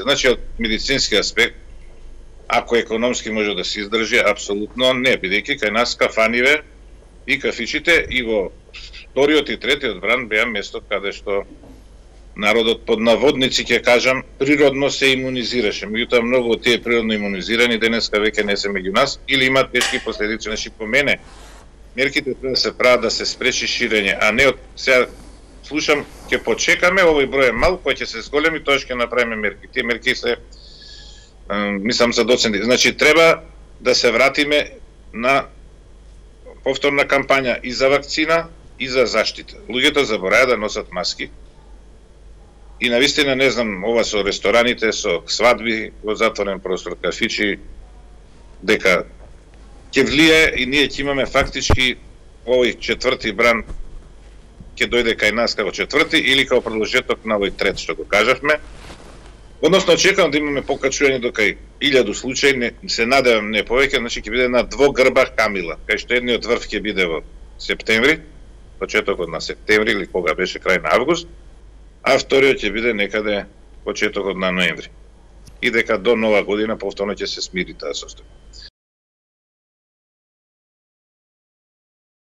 Значи, од медицински аспект, ако економски може да се издржи, апсолутно не, бидејќи кај нас кафаниве и кафичите и во вториот и третиот бран беа место каде што народот под наводници ќе кажам природно се имунизираше. Меѓутоа многу од тие природно имунизирани денеска веќе не се меѓу нас или имаат тешки последици. Значи по мене мерките треба да се прават да се спречи ширење, а не од сега слушам ќе почекаме, овој број е мал, кој ќе се зголеми, тоа ќе направиме мерки. Тие мерки се мислам за доценти. Значи треба да се вратиме на повторна кампања и за вакцина и за заштита. Луѓето забораја да носат маски. И навистина не знам ова со рестораните, со свадби во затворен простор, кафичи, дека ќе влие и ние ќе имаме фактички овој четврти бран ќе дојде кај нас како четврти или како продолжеток на овој трет што го кажавме. Односно очекувам да имаме покачување до кај 1000 случаи, не, се надевам не повеќе, значи ќе биде на двогрба камила, кај што едниот врв ќе биде во септември, почетокот на септември или кога беше крај на август, а вториот ќе биде некаде почетокот на ноември. И дека до нова година повторно ќе се смири таа состојба.